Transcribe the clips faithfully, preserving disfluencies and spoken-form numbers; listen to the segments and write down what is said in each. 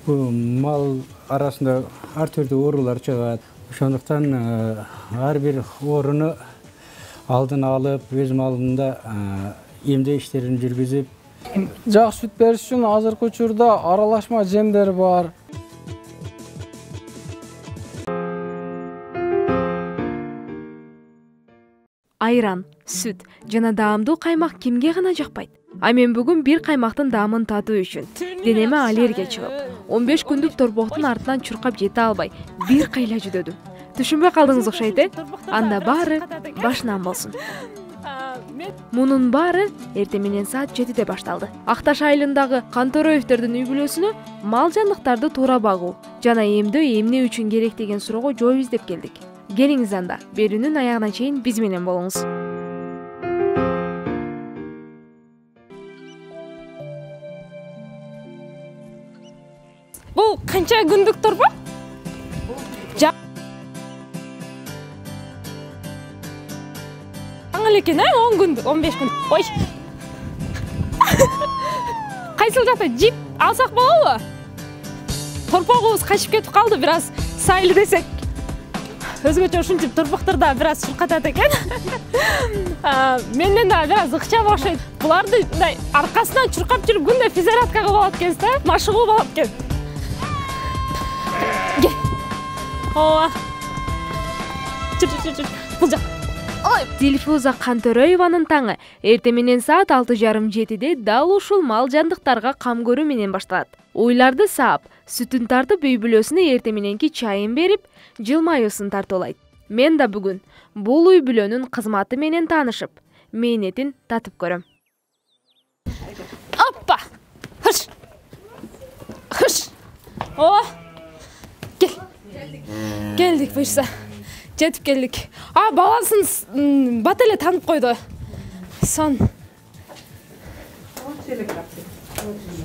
Бул мал арасында ар түрдүү оорулар чыгат. Ошондуктан ар бир ооруну алдын алып, өз малында эмдөө иштерин жүргүзүп, жакшы сүт бериш үчүн азыркы учурда аралашма жемдер бар. Айран, сүт жана даамдуу каймак кимге гана жакпайт? А мен бүгүн бир каймактын даамын татуу үчүн денеме аллергия чыгып, он беш күндүк торбоктун артынан чуркап жете албай, бир кайла жүдөдүм. Түшүнбөй калдыңыз окшойт, э? Анда баары башынан болсун. Мунун баары эртең менен саат жетиде башталды. Акташ айылындагы Кантороевдердин үй бүлөсүнө мал жандыктарды туура багуу жана эмдөө эмне үчүн керек деген суроого жооп издеп келдик. Келиңиз анда, берүүнүн аягына чейин биз менен болуңуз. Бул канча күндүк торбо? Жаңы экен, э? он күндүк, он беш күн. Ой. Кайсыл жакта жип алсак болобу? Торпогубуз качып кетип калды, бир аз сайыл десек. Өзгөчө ушинтип торпокторда бир аз чуркатат экен. Менден да бир аз ыкчам окшойт. Буларды мындай аркасынан чуркап жүрүп күндө физзарядкага болот экенсиз, да? Машыгуу болот экен. Кел. Ооба. Чүр чүр чүр. Бул жак. Дилфуза Кантороеванын таңы эртең менен саат алты жарым жетиде дал ушул мал жандыктарга кам көрүү менен башталат. Уйларды саап, сүтүн тартып үй бүлөсүнө эртең мененки чайын берип, жылмаюусын тартуулайт. Мен да бүгүн бул үй бүлөнүн кызматы менен таанышып, мээнетин татып көрөм. Оппа! Хыш! Хыш! О! Кел. Келдик буюрса. Жетип келдик. А, баласын бат эле танып койду. Сон.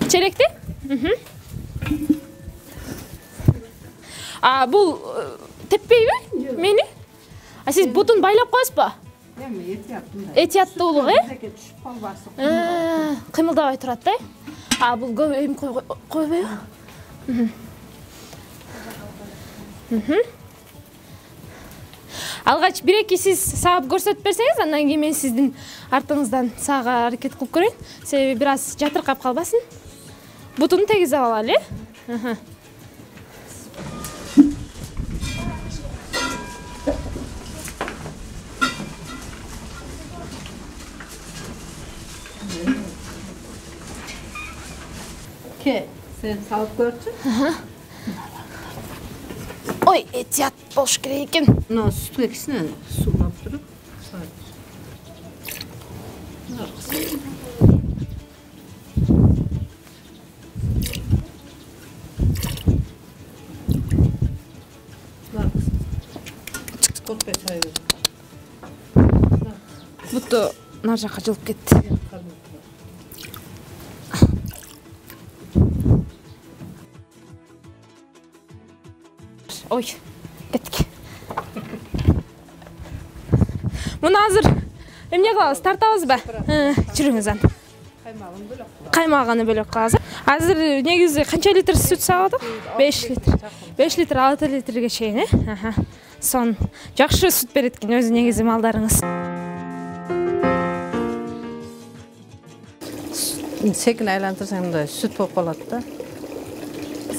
Черекти? А, бул теппейби мени? А сиз бутун байлап коесузбу? Эми этияттуу. Этияттуулук, э? Түшүп калбасын. Кыймылдабай турат, э? А, бул көп эм койбойбу? Алгач бир-эки сиз саап көрсөтүп берсеңиз, андан кийин мен сиздин артыңыздан саага аракет кылып көрөйүн. Себеби бир аз жатыркап калбасын. Бутуну тегизип алалы, э? Ке, сен салып көрчү. Ой, этият болуш керек экен. Мына сүт кекисине суулап туруп, салып. Коркпой чай бер. Буту нар жака жылып кетти. Ой, кеттик. Муну азыр эмне кылабыз? Тартабызбы? Жүрүңүз анда. Каймагын бөлөк. Каймагын бөлөк кылабыз. Азыр негизи канча литр сүт сагат? беш литр. беш литр, алты литрге чейин, э? Аха. Сон жакшы сүт берет экен өзү негизи малдарыңыз. Секин айлантырсаң мындай сүт болуп калат да.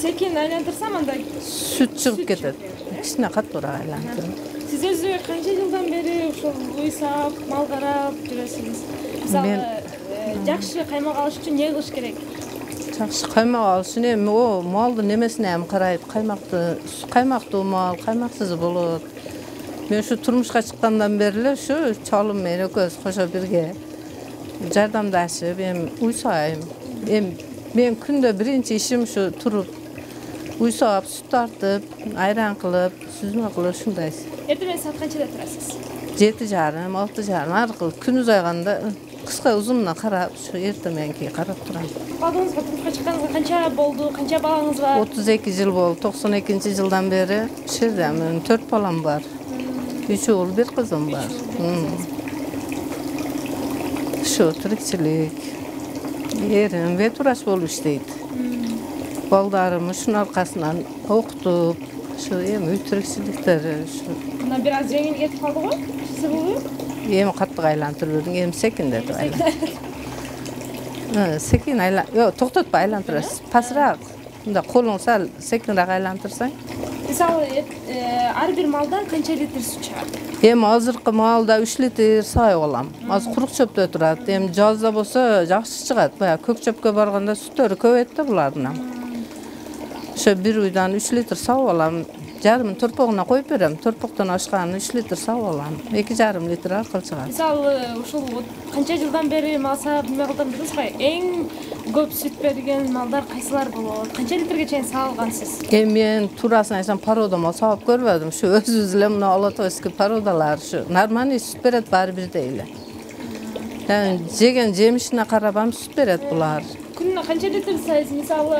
Секин айлантырсам андай Сүт чыгып кетет. Кичине каттуураак айлантырып. Сиз өзү канча жылдан бери ошол үй саап, мал карап жүрөсүңүз? Мисалы, жакшы каймак алыш үчүн эмне кылыш керек? Жакшы каймак алыш үчүн эми о малдын немесине эми карайт. Каймакты, каймактуу мал, каймаксыз болот. Мен ушу турмушка чыккандан бери эле ушу чалым менен экөөбүз кошо бирге жардамдашып, эми уй саайм. Эми мен күндө биринчи ишим ушу туруп уй саап, сүт тартып, айран кылып, сүзмө кылып ушундай. Эртең менен саат канчада турасыз? жети жарым, алты жарым аркылы күн узайганда кыска узунуна карап, ушу эртең мененки карап турам. Алдыңызга турмушка чыкканыңызга канча болду? Канча балаңыз бар? отуз эки жыл болду. токсон экинчи жылдан бери ушул жерде менин төрт балам бар. үч уул, бир кызым бар. Ушу тирикчилик. Эрим ветврач болуп иштейт. балдарым ушунун аркасынан окутуп, ушу эми үй тирикчиликтери ушу. Мына бир аз жеңил кетип калды го? Сызылуу? Эми каттык айлантырып бердиң, эми секиндетип айлантыр. Секин айлан, жок, токтотпой айлантырасыз. Пасыраак. Мында колуң сал секинирээк айлантырсаң. Мисалы, ар бир малдан канча литр сут чыгат? Эми азыркы маалда үч литр саап алам. Азыр курук чөптө турат. Эми жазда болсо жакшы чыгат. Баягы көк чөпкө барганда сүттөрү көбөйт да булардын. Ошо бир уйдан үч литр саап алам. Жарымын торпогуна коюп берем. Торпоктон ашкан үч литр саап алам. эки жарым литр аркылы чыгат. Мисалы, ушул канча жылдан бери мал саап неме кылдым дедиңиз го? Эң көп сүт берген малдар кайсылар болот? Канча литрге чейин саалгансыз? Эми мен туурасын айтсам парода мал саап көрбөдүм. Ушу өзүбүз эле мына Алатойский пародалар ушу нормальный сүт берет баары бирдей эле. Yani жеген жемишине карап ам сүт берет булар. Күнүнө канча литр сайсыз? Мисалы,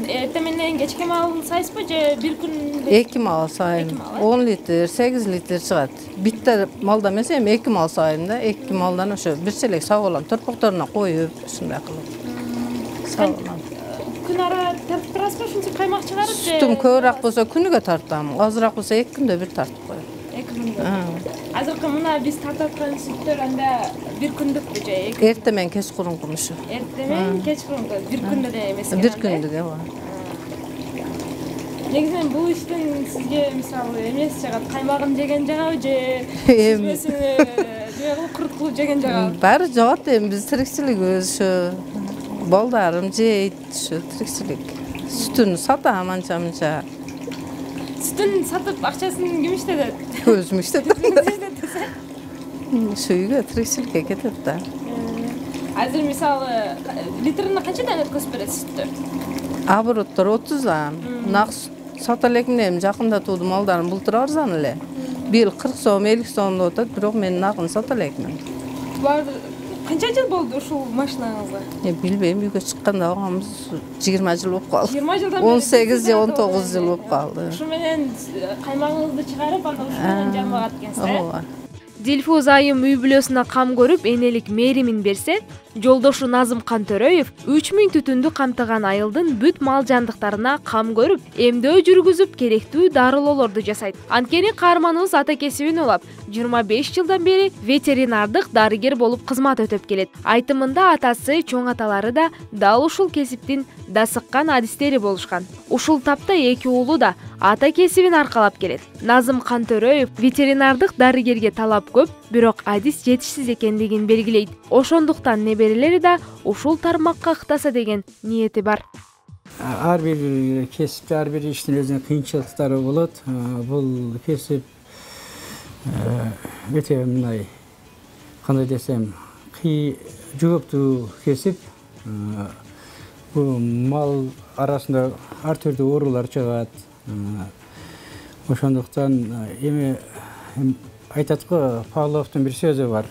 эрте менен кечке маал сайсызбы же бир күн? эки маал сайын. он литр, сегиз литр чыгат. Битте малда эмес, эми эки маал сайын да, эки маалдан ошо бир челек саап алам. Торпокторуна коюп, ушундай кылып саап алам. Күн ара тартып турасызбы, ушинтип каймак чыгарып же? Сүтүм көбүрөөк болсо күнүгө тартам, азыраак болсо эки күндө бир тартып коем. эки күндө. Азыркы мына биз тартып аткан сүттөр анда бир күндүкпү же эки? Эрте менен кеч курунку ушу. Эрте менен кеч курунку бир күндө эле эмес экен. Бир күндүк ооба. Негизинен бул иштин сизге мисалы эмеси жагат, каймагын жеген жагабы же сүзбөсүн неме кылып курут кылып жеген жагабы? Баары жагат, эми биз тирикчилигибиз ушу. Балдарым жейт ушу тирикчилик. Сүтүн сатам анча мынча. Сүтүн сатып акчасын ким иштетет? Өзүм иштетем. Ушу үйгө тирикчиликке кетет да. Азыр мисалы литрine канчадан өткөзүп бересиз сүттөр? Обороттор отуздан. Нак сата элекмин, эми жакындатуудун малдарым былтыр арзан эле. Быйыл кырк сом, элүү сомдо отот, бирок мен нагын сата элекмин. Булар канча жыл болду ушул машинаңызга? Эми билбейм, үйгө чыкканда багамыз жыйырма жыл болуп калды. жыйырма жылдан бери он сегиз же он тогуз жыл болуп калды. Ушу менен каймагыңызды чыгарып, анда ушу менен жамбагат экенсиз, э? Ооба. Дилфуз айым үй бүлөсүнө кам көрүп, энелик мээримин берсе, жолдошу Назым Кантөрөев үч миң түтүндү камтыган айылдын бүт мал жандыктарына кам көрүп, эмдөө жүргүзүп, керектүү дарылоолорду жасайт. Анткени каарманыбыз ата кесибин улап, жыйырма беш жылдан бери ветеринардык дарыгер болуп кызмат өтөп келет. Айтымында атасы, чоң аталары да дал ушул кесиптин дасыккан адистери болушкан. Ушул тапта эки уулу да ата кесибин аркалап келет. Назым Кантөрөев ветеринардык дарыгерге талап көп, бирок адис жетишсиз экендигин белгилейт. Ошондуктан неберелери да ушул тармакка ыктаса деген ниети бар. Ар бир кесипте, ар бир иштин өзүнүн кыйынчылыктары болот. Бул кесип өтө мындай, кандай десем, жооптуу кесип. Бул мал арасында ар түрдүү оорулар чыгат. Ошондуктан эми айтат го, Павловдун бир сөзү бар.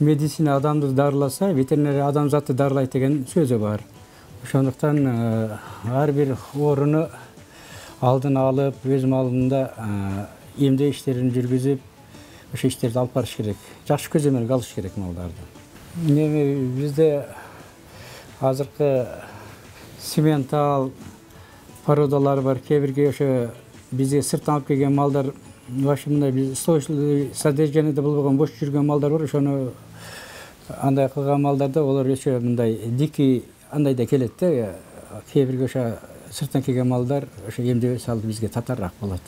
Медицина адамды дарыласа, ветеринария адамзатты дарылайт деген сөзү бар. Ошондуктан ар бир ооруну алдын алып, өз малында эмдөө иштерин жүргүзүп, ошо иштерди алып барыш керек. Жакшы көзөмөлгө алыш керек малдарды. Эми бизде азыркы сементал породалар бар. Кээ бирге ошо бизге сырттан алып келген малдар, вообще мындай биз стойлы содержанияда болбогон бош жүргөн малдар бар. Ошону андай кылган малдарда олар өчө мындай дикий андай да келет да. Кээ бирге ошо сырттан келген малдар ошо эмдөө салып бизге татарраак болот.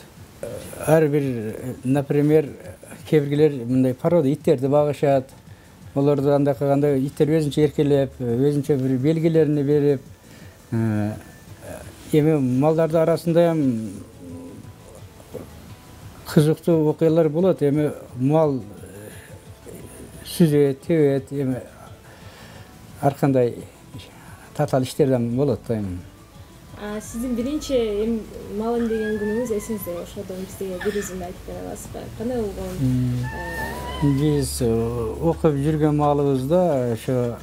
Ар бир, например, кээ биргелер мындай порода иттерди багышат. Олорду андай кылганда иттер өзүнчө эркелеп, өзүнчө бир белгилерин берип, эми малдардын арасында эм кызыктуу окуялар болот. Эми мал сүзөт, тебет, эми ар кандай татаал иштерден болот да эми. Сиздин биринчи эми мал эмдеген күнүңүз эсиңизде? Ошодон бизге бир үзүн айтып бере аласызбы? Кандай болгон? Биз окуп жүргөн малыбызда ошо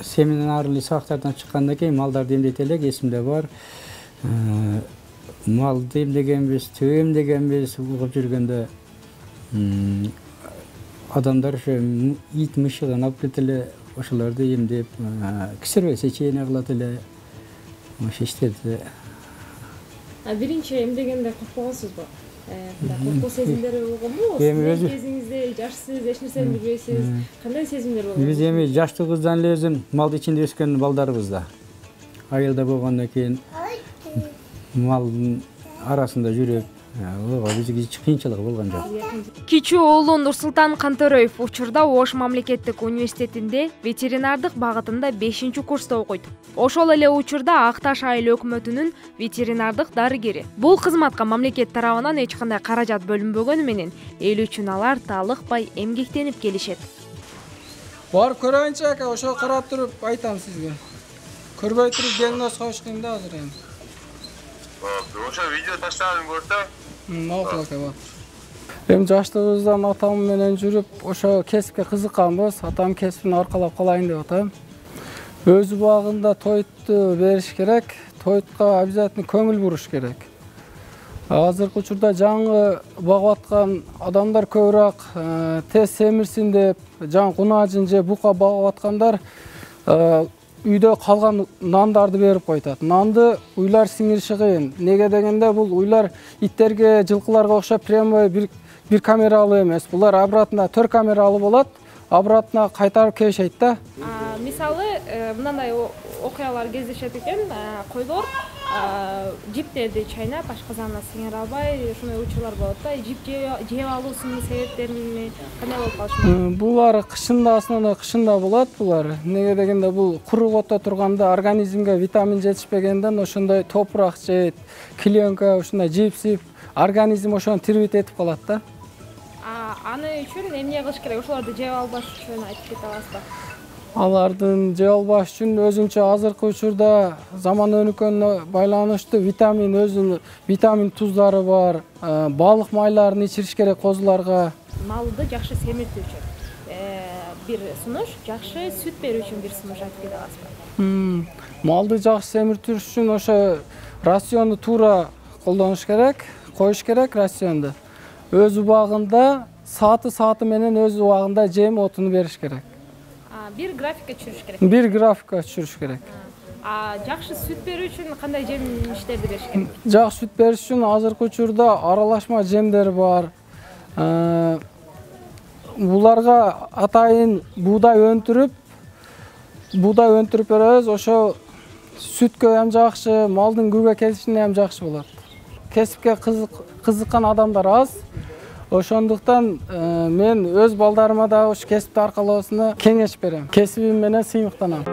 семинарлы сабактардан чыккандан кийин малдарды эмдейт элек, эсимде бар. Малды эмдегенбиз, төө эмдегенбиз окуп жүргөндө. Адамдар ошо ит мышыгын алып кетип эле ошолорду эмдеп, кесарево сечение кылат эле. ошо иштерди. А биринчи эмдегенде коркпогонсузбу? Коркуу сезимдери болгонбу? Эми Сиздин өзү- кезиңизде жашсыз, эч нерсени билбейсиз. Кандай сезимдер болгон? Биз эми жаштыгыбыздан эле өзүн малдын ичинде өскөн балдарыбыз да. Айылда болгондон кийин малдын арасында жүрүп, ого бизге эч кыйынчылыгы болгон жок. Кичүү уулу Нурсултан Кантөрөев учурда Ош мамлекеттик университетинде ветеринардык багытында бешинчи курста окуйт. Ошол эле учурда Ак Таш айыл өкмөтүнүн ветеринардык дарыгери. Бул кызматка мамлекет тарабынан эч кандай каражат бөлүнбөгөнү менен эл үчүн алар таалыкпай эмгектенип келишет. Барып көрөйүнчү ака, ошо карап туруп айтам сизге. Көрбөй туруп диагноз коюш кыйын да азыр эми. Ошо видео таштадым көрдү. Макул ака, болот. Эми жаштыгыбыздан атам менен жүрүп, ошо кесипке кызыкканбыз. Атам кесибин аркалап калайын деп атам. Өз убагында тойту бериш керек, тойтка обязательно көңүл буруш керек. Азыркы учурда жаңы багып аткан адамдар көбүрөөк тез семирсин деп, жаңы кунажын же бука багып аткандар үйдө калган нандарды берип койтат. Нанды уйлар сиңириши кыйын. Неге дегенде бул уйлар иттерге, жылкыларга окшоп прямой бир бир камералуу эмес. Булар обратно төрт камералуу болот. Обратно кайтарып келишет да. Мисалы, мындай окуялар кездешет экен. Койлор жиптерди чайнап, ашказанына сиңире албай, ушундай учурлар болот да. Жип жеп алуусунун себептерин кандай болуп калышы? Булар кышында, основной кышында болот булар. Неге дегенде бул куру отто турганда организмге витамин жетишпегенден ошондой топурак жейт, клеенка, ушундай жип-жип организм ошону тирбит этип калат да. Аны үчүн эмне кылыш керек? Ошолорду жеп албаш үчүн айтып кете аласызбы? Алардын жеп албаш үчүн өзүнчө азыркы учурда заман өнүккөнүнө байланыштуу витамин өзүнүн витамин туздары бар. Балык майларын ичириш керек козуларга. Малды жакшы семиртүү үчүн бир сунуш, жакшы сүт берүү үчүн бир сунуш айтып кете аласызбы? Малды жакшы семиртүш үчүн ошо рационду туура колдонуш керек, коюш керек рационду. Өз убагында сааты-сааты менен өз убагында жем отуну бериш керек. Бир графикке түшүрүш керек. Бир графикка түшүрүш керек. А жакшы сүт берүү үчүн кандай жем иштерди бериш керек? Жакшы сүт бериш үчүн азыркы учурда аралашма жемдер бар. Буларга атайын буудай өндүрүп, буудай өндүрүп беребиз. Ошо сүткө ham жакшы, малдын күбө келишине ham жакшы болот. Кесипке кызыккан адамдар аз. Ошондуктан мен өз балдарыма да ушу кесипти аркалоосуна кеңеш берем. Кесибим менен сыймыктанам.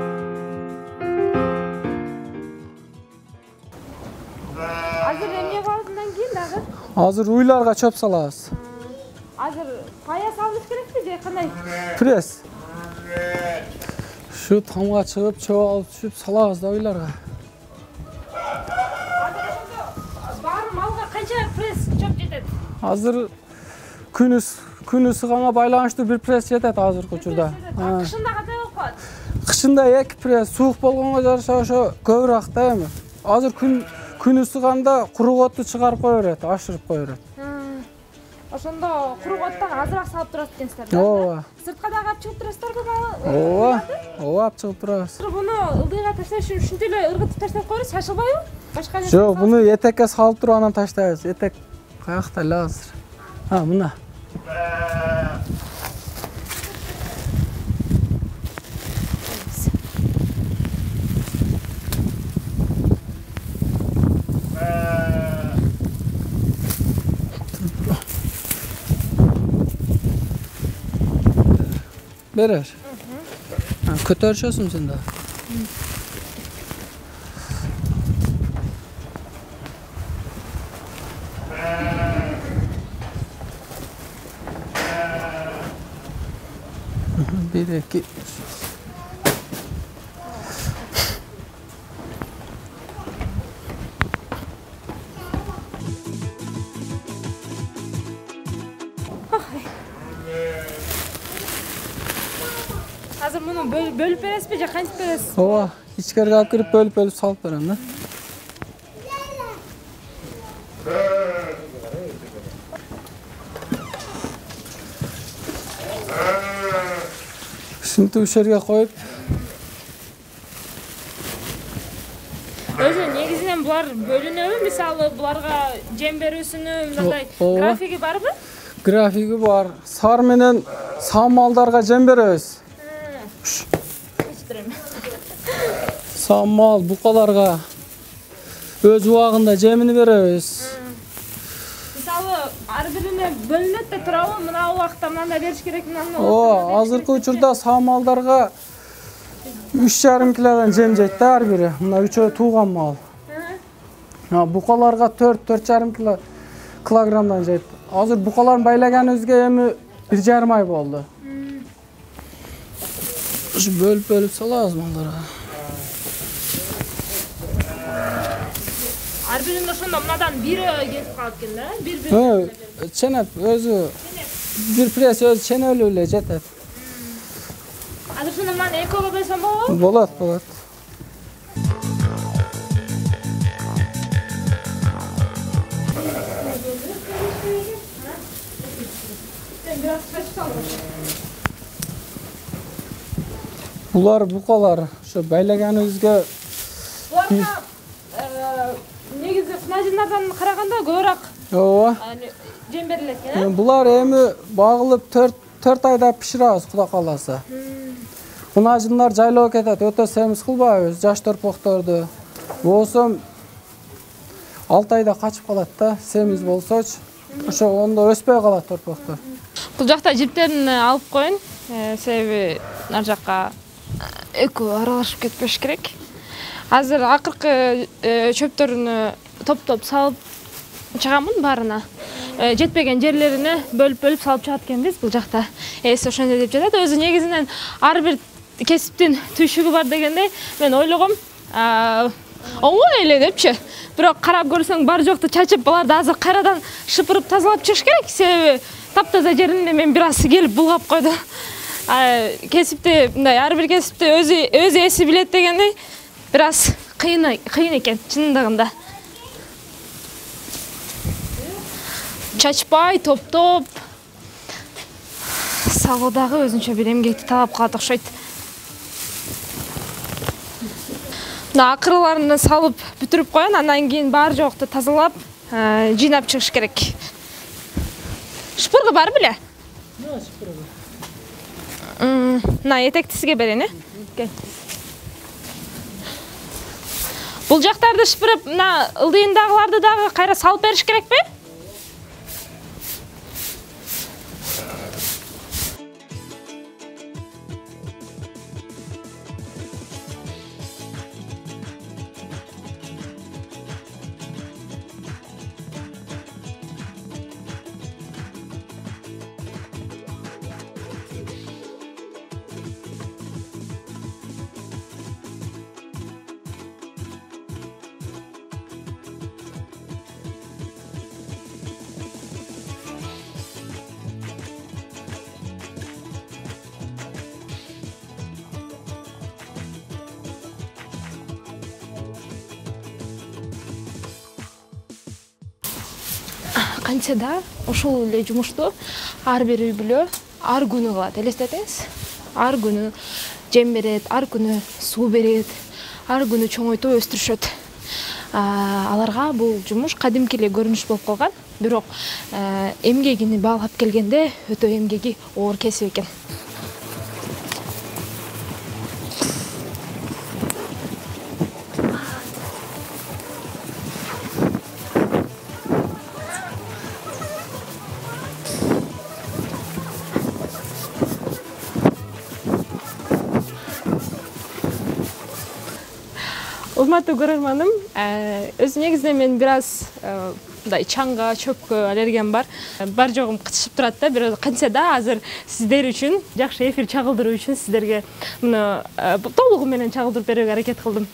Азыр эмне кылгандан кийин дагы? Азыр уйларга чөп салабыз. Азыр пая салыш керекпи же кандай? Пресс. Şu tamga чыгып, чөп алып түшүп салабыз да уйларга. Бар малга канча пресс чөп жетет? Азыр күнү күнү сыганга байланыштуу бир пресс жетет азыркы учурда. Кышында кандай болуп калат? Кышында эки пресс, суук болгонго жараша ошо көбүрөөк да эми. Азыр күн күнү сыганда куру отту чыгарып кое берет, ашырып кое берет. Ошондо куру оттон азыраак салып турат экенсиздер да? Ооба. Сыртка дагы алып чыгып турасыздарбы малы? Ооба. Ооба, алып чыгып турабыз. Буну ылдыйга ташташ үчүн ушинтип эле ыргытып таштап коебуз, шашылбайбы? Башка нерсе? Жок, буну этекке салып туруп анан таштайбыз. Этек каякта эле азыр? А, мына. Берер. Көтөрүшөсүң сен да. Bir, iki. Азыр муну бөлүп бересизби же кантип бересиз? Ооба, ичкерге алып кирип бөлүп-бөлүп салып берем да. Ушинтип ушерге коюп. Өзү булар бөлүнөбү? Мисалы буларга жем берүүсүнүн мындай Ооба. графиги барбы? Графиги бар. Сар менен сам малдарга жем беребиз. Кечирем. Сам мал букаларга өз убагында жемини беребиз. Мисалы ар бирине бөлүнөт да турабы? Мына убакта мындай бериш керек, мынаны. Ооба, азыркы учурда сам малдарга үч жарым килодан жем жейт да ар бири. Мына үчөө тууган мал. Букаларга төрт төрт жарым кило килограммдан жейт. Азыр букаларын байлаганыбызга эми бир жарым ай болду. Ушу бөлүп-бөлүп салабыз малдарга. Ар биринде ошондо мынадан бири келип калат экен да? Бир-бир. Ченеп өзү бир пресс өзү ченелүү эле жетет. Азыр ошондо мынаны экөөгө бөлсөм болобу? Болот, болот. Булар букалар ошо байлаганыбызга Буларга негизи кунажындардан караганда көбүрөөк ооба. жем берилет экен, э? Булар эми багылып төрт айда пиширабыз, Кудай кааласа. Кунажындар жайлоо кетет, өтө семиз кылбайбыз, жаш торпокторду. Болсо алты айда качып калат да, семиз болсочу. Ошо ондо өспөй калат торпоктор. Бул жакта жиптерин алып коюн, себеби нар жакка экөө аралашып кетпеш керек. Азыр акыркы чөптөрүнү топ-топ салып чыгамын баарына. Жетпеген жерлерине бөлүп-бөлүп салып чыгат экенбиз бул жакта. Эси ошондой деп жатат. Өзү негизинен ар бир кесиптин түйшүгү бар дегендей мен ойлогом, оңой эле депчи. Бирок карап көрсөң бар жокту чачып, буларды азыр кайрадан шыпырып тазалап чыгыш керек, себеби таптаза жеринде мен бир аз келип булгап койду. Кесипти мындай ар бир кесипти өзү өзү эси билет дегендей бир аз кыйын кыйын экен чындыгында. Чачпай, топ-топ салуу дагы өзүнчө бир эмгекти талап кылат окшойт. Мына акырыларын салып бүтүрүп коюн, андан кийин бар жокту тазалап, жыйнап чыгыш керек. Шпурга бар беле? Жок, шпурга. Мына этекти сизге берейин, э? Кел. Бул жактарды шпырып, мына ылдыйындагыларды дагы кайра салып бериш керекпи? Кантсе да ошол эле жумушту ар бир үй бүлө ар күнү кылат. Элестетиңиз. Ар күнү жем берет, ар күнү суу берет, ар күнү чоңойтуп өстүрүшөт. Аларга бул жумуш кадимки эле көрүнүш болуп калган. Бирок эмгегини баалап келгенде өтө эмгеги оор кесип экен. Урматтуу көрөрманым, өзү негизинен мен бир аз мындай чаңга, чөпкө аллергиям бар. Бар жогум кытышып турат да, бирок кантсе да азыр сиздер үчүн, жакшы эфир чагылдыруу үчүн сиздерге муну толугу менен чагылдырып берүүгө аракет кылдым.